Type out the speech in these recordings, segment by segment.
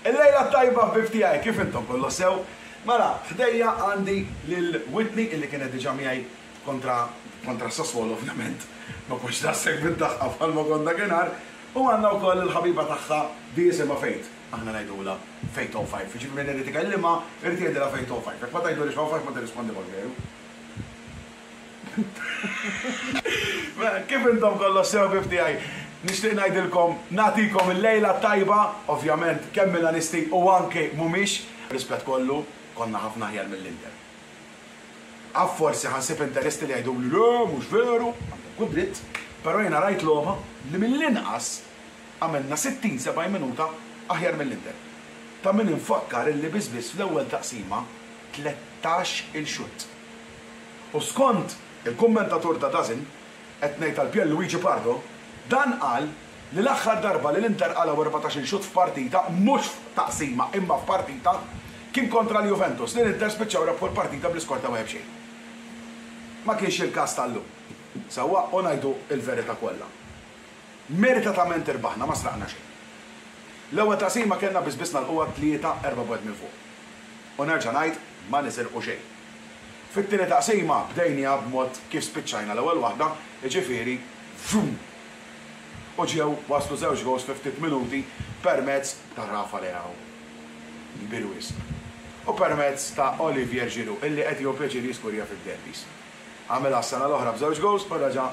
Il-lejla t-tajba ħbieb tiegħi, kif intom kollox sew? Mela, ħdejja għandi lil Whitney illi kienet diġà miegħi kontra kontra Sassuolo ovvjament, ma kontx daqshekk bid-daħqa bħalma kont dakinhar, u għandna wkoll il-ħabiba tagħha di jisimha Faith. Aħna ngħidulha Faith 05, jiġifieri min irid ikellimha irid jgħidilha Faith 05, jekk ma tgħidulhiex 05 ma tirrispondilhomx veru? Mela, kif intom kollox sew ħbieb tiegħi? Nixtieq ngħidilkom, nagħtikom il-lejla t-tajba, ovvjament kemm Milanisti u anke mhumiex. Rispett kollu, konna ħafna aħjar mill-Inter. Af forsi ħa nsib Interisti li jgħiduli le, mhux veru, għandhom kull dritt, però jiena rajt logħba li mill-inqas għamilna 60, 70 minuta aħjar mill-Inter. Ta' min infakkar illi biss biss fl-ewwel taqsima 13 il xutt. U skont il-kummentatur ta' DAZN, qed ngħid għal Pierluigi Pardo, dan qal li l-aħħar darba li l-Inter qalgħu 14 il xutt f'partita, mhux f'taqsima imma f'partita, kien kontra l-Juventus li l-Inter spiċċaw rebħu l-partita bl-iskor ta' wieħed b'xejn. Ma kienx il-każ tal-lum. Sewwa, u ngħidu l-verità kollha. Meritatament irbaħna, ma sraqna xejn. L-ewwel taqsima kellna biss biss nagħlquha tlieta, erbgħa b'wieħed minn fuq. U nerġa' ngħid, ma nisirqu xejn. Fit-tieni taqsima bdejniha b'mod kif spiċċajna l-ewwel waħda, jiġifieri vroom! U ġew waslu żewġ gowls fi ftit minuti permezz ta' Rafa Leao, kbir wisq, u permezz ta' Olivier Giroud illi qed jieħu pjaċir jiskurja fid-derbies. Għamilha s-sena l-oħra b'żewġ gowls u reġa'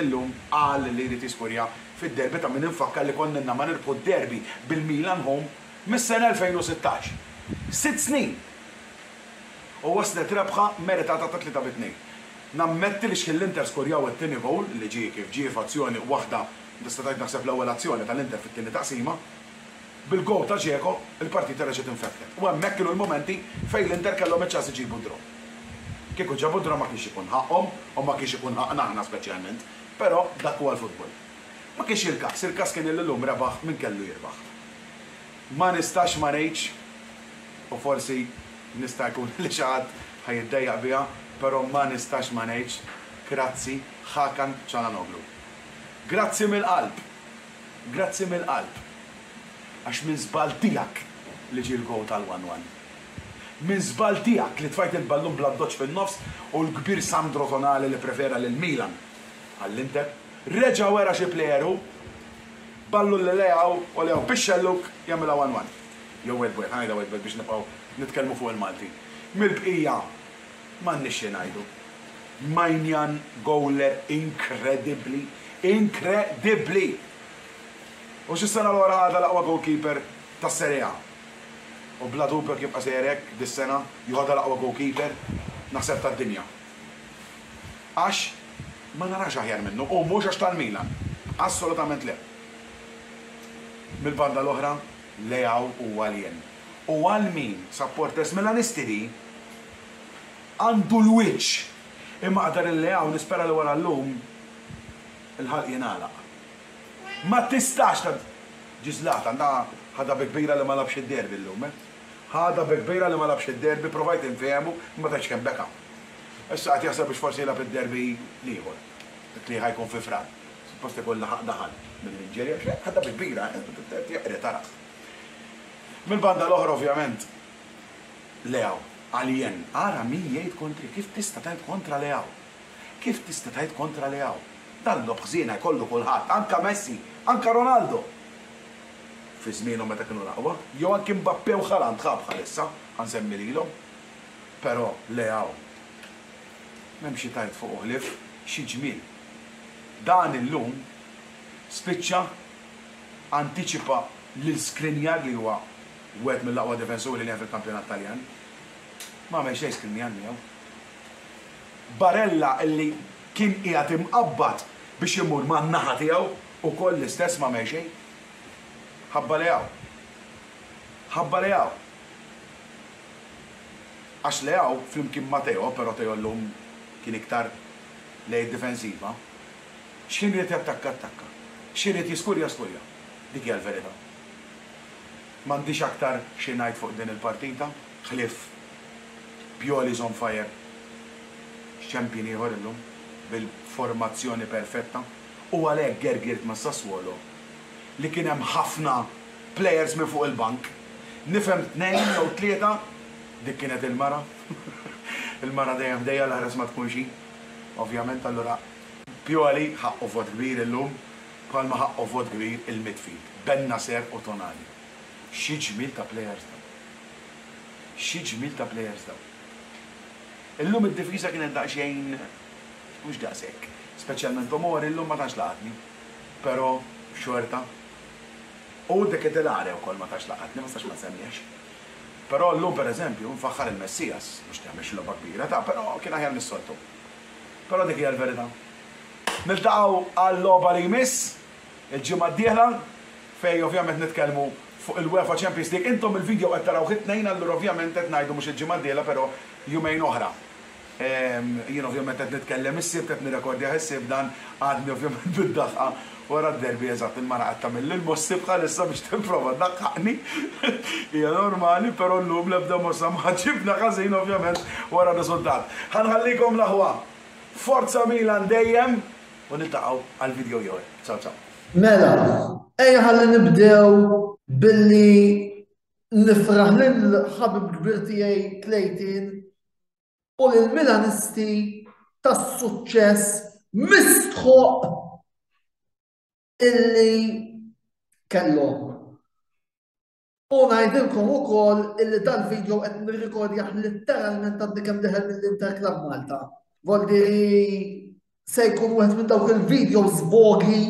illum qal li jrid jiskurja fid-derby ta' min infakkar li konna ilna ma nirbħu d-derby bil-Milan home mis-sena 2016. Sitt snin! U waslet rebħa meritata ta' 3 bi 2. Nammetti li x'ħin l-Inter skurjaw it-tieni gowl, li ġie kif ġie f'azzjoni waħda, tista' tgħid naħseb l-ewwel azzjoni tal-Inter fit-tieni taqsima, Bil-gowl ta' Dzeko, il-partita reġgħet infetħet u hemmhekk kienu l-mumenti fejn l-Inter kellhom iċ-ċans iġibu d-draw. Kieku ġabu d-draw ma kienx ikun ħaqqhom u ma kienx ikun ħaqqna aħna speċjalment, però dak huwa l-futbol. Ma kienx il-każ, il-każ kien li llum rebaħ min kellu jirbaħ. Ma nistax ma ngħidx, u forsi nista' jkun li xi ħadd ħa jiddejjaq biha, però ma nistax ma ngħidx grazzi Hakan Calhanoglu. Grazzi mill-qalb! Grazzi mill-qalb. Għax minn żball tiegħek li ġie l-gowl tal-one one. Minn żball tiegħek li tfajt il-ballun bl-addoċċ fin-nofs u l-kbir Sandro Tonali li prefera lil Milan għall-Inter, reġa' wera xi plejer hu, ballun lil Leao u Leao bix-xellug jagħmilha one one. Jew wieħed b'wieħed, ħa ngħidha wieħed b'wieħed biex nibqgħu nitkellmu fuq il-Malti. Mill-bqija m'għandniex xi ngħidu. Maignan gowler inkredibbli, inkredibbli! U x'is-sena l-oħra ħadha l-aqwa goalkeeper tas-Serie A. U bla dubju jekk jibqa' sejjer hekk dis-sena joħodha l-aqwa goalkeeper naħseb tad-dinja. Għax ma narax aħjar minnu u mhux għax tal-Milan. Assolutament le. Mill-banda l-oħra Leao huwa alien. U għal min supporters Milanisti di għandu l-wiċċ. Imma qdar il-Leao nispera li wara llum il-ħalq jingħalaq. Ma tistax ta' Ġie Zlatan, da ħadha bi kbira li ma lagħabx id-derby llum, eh. Ħadha bi kbira li ma lagħabx id-derby, provajt infehmu, imma tgħidx kemm beka. Issa qed jaħseb biex forsi jilgħab id-derby l-ieħor, dak li ħa jkun fi Frar. Suppost ikun laħaq daħal mill-injury għax ħadha bi kbira, eh, jeqred ara. Mill-banda l-oħra ovvjament Leao, alien. Ara min jgħid kontri, kif tista' tgħid kontra Leao? Kif tista' tgħid kontra Leao? Dan logħob ħżiena jkollu kulħadd, anke Messi, anke Ronaldo! Fi żmienhom meta kienu l-aqwa, jew anki Mbappe u Haaland ħa bħalissa, ħa nsemmi lilhom. Però Leao, m'hemm xi tgħid fuqu ħlief xi ġmiel. Dan illum spiċċa antiċipa lil Skriniar li huwa wieħed mill-aqwa difensuri li hemm fil-kampjonat Taljan. M'għamel xejn Skriniar miegħu. Barella illi kien qiegħed imqabbad biex imur man-naħa tiegħu ukoll l-istess m'għamel xejn. Ħabba Leao. Ħabba Leao. Għax Leao flimkien ma' Theo, però Theo llum kien iktar lejn id-difensiva, x'ħin ried jattakka attakka, x'ħin ried jiskurja skurja. Dik hija l-verità. M'għandix aktar xi ngħid fuq din il-partita ħlief Pioli's on fire, champion ieħor illum bil-formazzjoni perfetta u għalhekk gergirt ma' Sassuolo li kien hemm ħafna plejers minn fuq il-bank. Nifhem tnejn jew tlieta, dik kienet il-mara. Il-mara dejjem ħdejja l-aħres ma tkunx hi. Ovvjament allura Pioli ħaqqu vot kbir illum bħalma ħaqqu vot kbir il-midfield, Bennacer u Tonali. Xi ġmiel ta' plejers dawn. Xi ġmiel ta' plejers dawn. Illum id-difiża kienet daqsxejn mhux daqshekk. Speċjalment Tomori llum ma tantx laqatni. Però xorta. U De Ketelaere wkoll ma tantx laqatni, ma nistax ma nsemmihx. Però llum pereżempju nfaħħar il-Messias, mhux li għamel xi logħba kbira ta' però kien aħjar mis-soltu. Però dik hija l-verità. Niltaqgħu għal-logħba li jmiss il-ġimgħa d-dieħla fejn ovvjament nitkellmu fuq il-UEFA Champions League. Intom il-video qed tarawh it-Tnejn allura ovvjament qed ngħidu mhux il-ġimgħa d-dieħla però jumejn oħra. Jien ovvjament qed nitkellem is-Sibt, qed nirrekordjah is-Sibt dan, għadni ovvjament bid-daħqa wara d-derby eżatt il-mara qed tagħmilli l-mossi bħalissa biex tipprova ddaħħaqni. Hija normali, però llum l-ebda mossa ma ġibna ħażin ovvjament wara r-riżultat. Ħa nħallikom l-aħwa. Forza Milan dejjem u niltaqgħu għal video ieħor. Ciao ciao. Mela, ejja ħalli nibdew billi nifraħ lil ħabib kbir tiegħi Clayton u lill-Milanisti tas-suċċess mistħoq illi kellhom. U ngħidilkom ukoll illi dal-video qed nirrikordjah litteralment għadni kemm deħel mill-Inter Club Malta. Voldi se jkun wieħed minn dawk il-videos bogi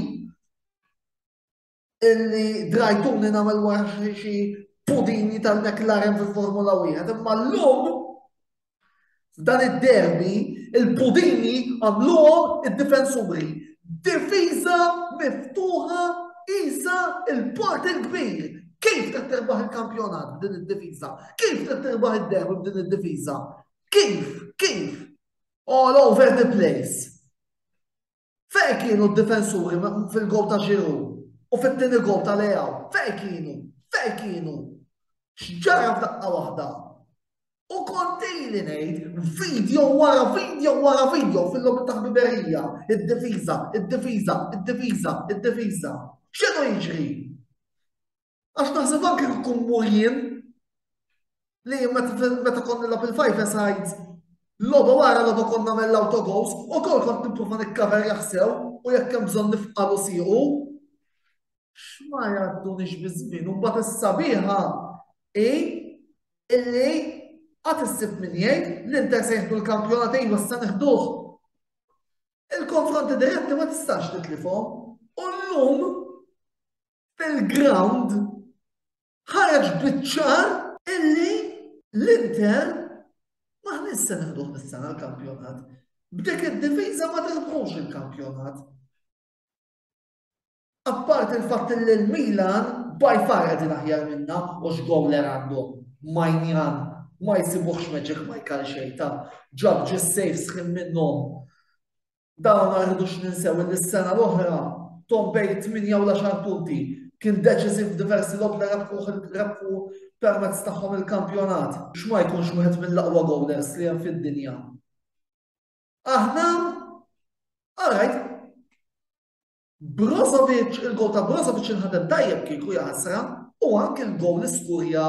illi drajtuni nagħmel wara xi pudini tal-McLaren fil-Formula 1. Imma llum f'dan id-derby il-pudini għamluhom id-difensuri. Difiża miftuħa isa il-port il-kbir. Kif trid tirbaħ il-kampjonat b'din id-difiża? Kif trid tirbaħ id-derby b'din id-difiża? Kif? Kif? All over the place. Fejn kienu d-difensuri fil-gowl ta' Giroud u fit-tieni gowl ta' Leao? Fejn kienu? Fejn kienu? X'ġara f'daqqa waħda? U kont ili ngħid video wara video wara video fil-logħob ta' ħbiberija, id-difiża, id-difiża, id-difiża, id-difiża. X'inhu jiġri? Għax naħseb anke kieku mmur jien li meta kont nilgħab il-five sides logħba wara logħba kont nagħmel l-auto goals u kol kont nipprova nikkaver jaħsew u jekk hemm bżonn nifqalu siequ. X'ma jgħaddunix biż-żmien u mbagħad is-sabiħa hi illi għad issib min jgħid l-Inter se jieħdu l-kampjonat iva issa neħduh. Il-konfronti diretti ma tistax titlifhom. U llum fil-ground ħareġ biċ-ċar illi l-Inter maħniex se neħduh dis-sena l-kampjonat. B'dik id-difiża ma tirbħux il-kampjonat. Apparti il-fatt li l-Milan by far qegħdin aħjar minna u x'gowler għandhom. Majnjan ma jsibuhx Magic Mike għal xejn ta' ġab ġis saves ħin minnhom Dawn ma rridux ninsew illi s-sena l-oħra Tom bejn it-tmienja u l-għaxar punti kien deċiżiv f'diversi logħob li rebħu permezz tagħhom il-kampjonat. X'ma jkunx wieħed mill-aqwa gowlers li hemm fid-dinja. Aħna, alright, Brozovic, il-gowl ta' Brozovic inħadem tajjeb kieku jaħasra u anke l-gowl li skurja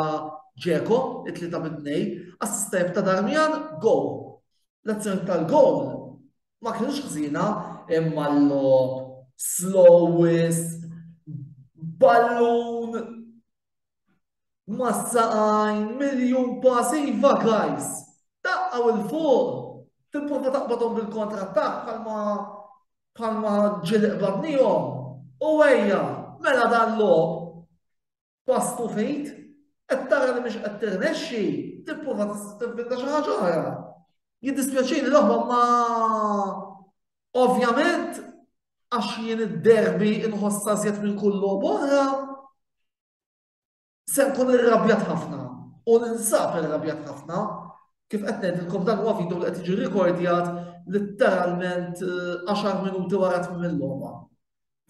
Dzeko, it-tlieta minn tnej, assist tajjeb ta' Darmian, gowl. L-azzjoni tal-gowl ma kienux ħżiena imma l-logħob slow wisq, ballun mas-saqajn, miljun pass, iva guys! Daqqaw 'il fuq! Tipprova taqbadhom bil-kontrattakk bħalma bħalma ġieli qbadnihom. U ejja, mela dan logħob pass to feet, qed tara li mhix qed tirnexxi, tipprova tivvinta xi ħaġa oħra. Jiddispjaċini l-oħwa ma ovvjament għax jien id-derby inħossha żjed minn kull logħob oħra, se nkun irrabjat ħafna u ninsab irrabjat ħafna. Kif qed ngħidilkom dan huwa video li qed jiġi rikordjat litteralment 10 minuti wara tmiem il-logħba.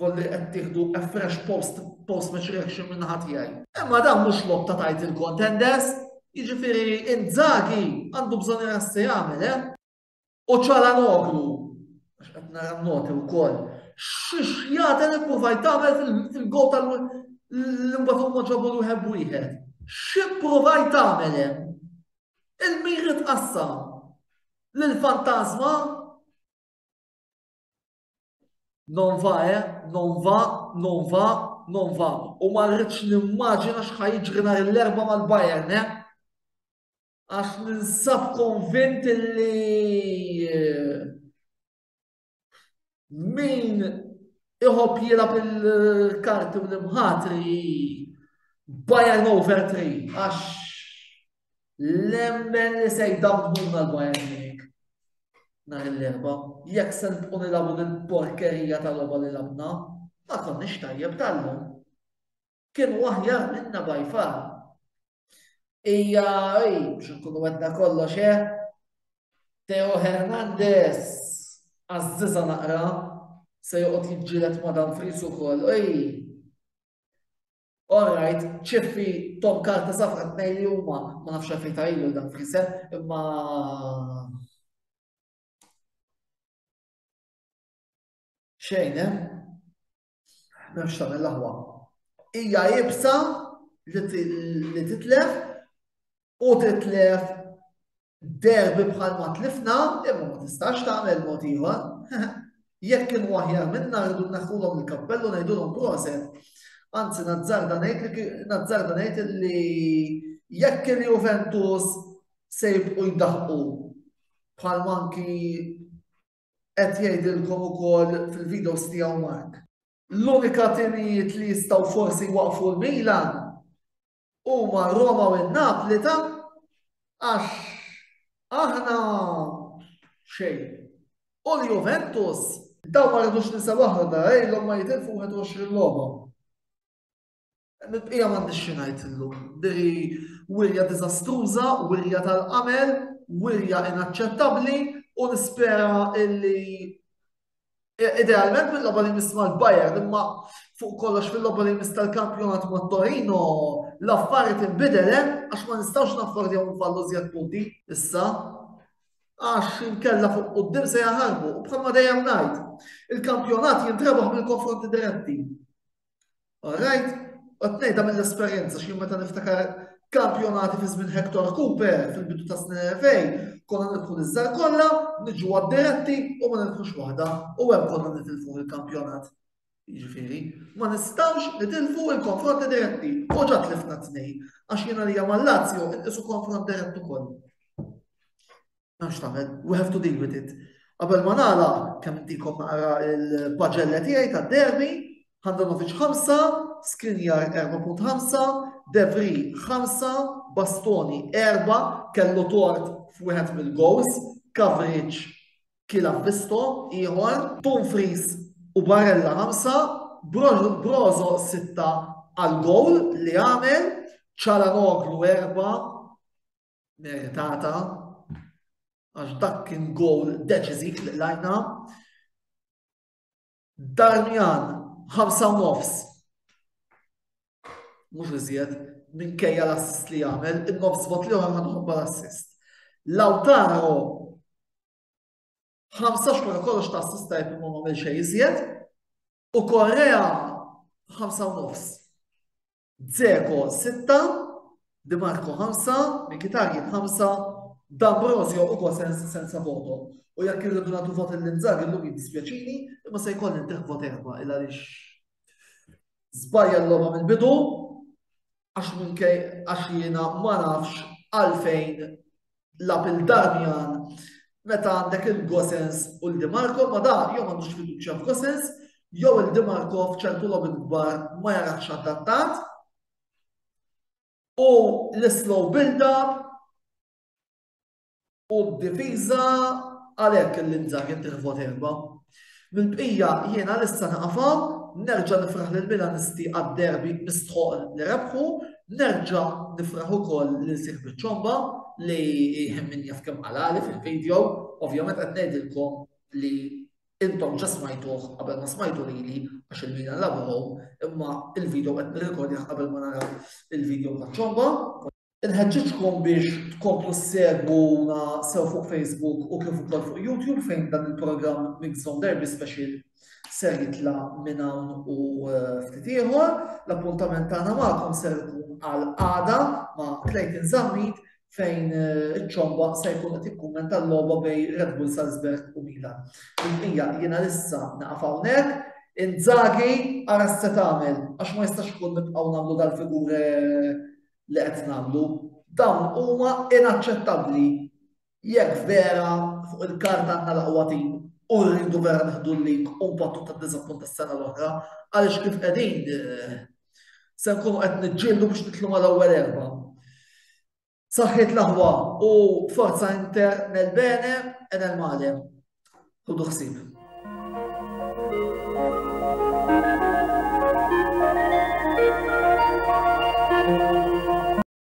Volli qed tieħdu a fresh post post match reaction minn naħa tiegħi. Imma dan mhux logħob ta' title contenders, jiġifieri Inzaghi għandu bżonn jara se jagħmel, eh? U Calhanoglu, għax qed nara n-noti wkoll, x'jaten ippruvajt tagħmel fil-gol tal l-imbagħad huma ġabu l-wieħed b'wieħed. X'ippruvajt tagħmel hemm? Il-miri tqassam lill-fantasma Non va, eh? Non va, non va, non va. U ma rridx nimmaġina x'ħa jiġri nhar l-Erbgħa mal-Bayern, eh? Għax ninsab konvint li eh, min iħobb jilgħab il-karti u l-imħatri Bayern over 3 għax nemmen li se jdamdmuna l-Bayern Munich nhar l-Erbgħa. Jekk se nibqgħu nilagħbu din porkerija tal-logħba li labna, ma konniex tajjeb tal-lum. Kienu aħjar minna by far. Ija, ej, biex nkunu għedna kollox, eh? Theo Hernandez, għazziza naqra, se joqgħod jiġġieled ma' Dumfries ukoll. Ej. All right, ċiffi tom karta safra tnej li huma, ma nafx għalfejn ta' ilu Dumfries, eh? imma xejn, eh? M'hemmx tagħmel l-aħwa. Hija iebsa li titlef u titlef derbi bħal ma tlifna, imma ma tistax tagħmel mod ieħor. Jekk kienu aħjar minna rridu nneħħulhom il-kappellu ngħidulhom proset. Anzi nazzarda ngħid li nazzarda ngħid li jekk il-Juventus se jibqu jdaħqu bħal manki qed jgħidilkom ukoll fil-videos tiegħu Mark. L-unika timijiet li jistgħu forsi jwaqfu l-Milan huma Roma u n-Napli ta' għax aħna xejn. U l-Juventus daw ma rridux ninsew aħna ilhom ma jitilfu 21 logħba. Mill-bqija m'għandix xi ngħid illum. Diri wirja diżastruża, wirja tal-qamel, wirja inaċċettabbli u nispera illi idealment mill-logħba li jmiss mal-Bayern imma fuq kollox fil-logħba li jmiss tal-kampjonat ma' Torino l-affari tinbidel eh? għax ma nistgħux naffordjaw nfallu żjed punti issa għax inkella fuq quddiem se jaħarbu u bħalma dejjem ngħid il-kampjonat jintrebaħ mill-konfronti diretti. Alright? Qed ngħidha mill-esperjenza x'jien meta niftakar kampjonati fi żmien Hector Cooper fil-bidu ta' snin 2000, konna nidħu l-iżżar kollha, niġu għad-diretti u ma nidħux waħda u hemm konna nitilfu il-kampjonat. Jiġifieri, ma nistgħux nitilfu il-konfronti diretti. U ġa tlifna tnejn, għax jiena li mal-Lazio inqisu konfront dirett ukoll. M'hemmx tagħmel, we have to deal with it. Qabel ma nagħlaq, kemm intikom naqra il-paġella tiegħi tad-derby, Handanovic 5, Skriniar 4.5, De Vrij 5, Bastoni 4, kellu tort f'wieħed mill-goals, Coverage kiel avvisto ieħor, Dumfries u Barella 5, Brozo 6 għal goal li għamel, Calhanoglu 4, meritata għax dak kien goal deċiżiv li qlajna. Darmian, 5 u nofs. Mhux iżjed, minkejja l-assist li għamel, in-nofs vot li ħa nħobba l-assist. Lautaro, 5 wara kollox ta' assist tajb imma m'għamel xejn iżjed. U Correa, 5 u nofs. Dzeko 6, Dimarco 5, Mkhitaryan 5, D'Ambrosio u Gosens senza voto. U jekk irridu nagħtu vot lil Inzaghi llum jiddispjaċini, imma se jkolli ntih vot 4 il għaliex żbalja l-logħba mill-bidu għax minkej għax jiena ma nafx għalfejn lagħab lil Darmian meta għandek il-Gosens u l-Dimarco, ma da jew m'għandux fiduċja f'Gosens, jew il-Dimarco f'ċertu logħbiet kbar ma jarax adattat. U l-slow build-up u d-difiża għalhekk l-Inzaghi ntih vot 4. Mill-bqija jiena lissa naqafa, nerġa' nifraħ lil Milanisti għad-derby mistħoq li rebħu, Nerġa' nifraħ ukoll lil sieħbi ċomba li min jaf kemm qalali fil-video, ovvjament qed ngħidilkom li intom ġa smajtuh qabel ma smajtu lili għax il-Milan lagħbu home, imma il-video qed nirrekordjah qabel ma naraw il-video ta' ċomba. Inħeġġiġkom biex tkomplu ssegwuna sew fuq Facebook u kif ukoll fuq YouTube fejn dan il-programm Mix Zone Derby Special ser jitla' minn hawn u eh, ftit ieħor. L-appuntament tagħna magħkom ser ikun għal għada ma' Clayton Zammit fejn eh, iċ-ċomba se jkun qed jikkummenta l-logħba bej Red Bull Salzburg u Milan. Il-bqija jiena issa naqaf hawnhekk. Inzaghi ara se tagħmel għax ma jistax ikun nibqgħu nagħmlu dal-figure li qed nagħmlu. Dawn huma inaċċettabbli jekk vera fuq il-karta għandna l-aqwa tim u rridu vera nieħdu l-lig u npattu tad-diżappunt tas-sena l-oħra għaliex kif qegħdin eh, se nkunu qed niġġieldu biex nitlu mal-ewwel erba'. Saħħit l-aħwa u forza Inter nel bene e nel male. Ħudu ħsieb.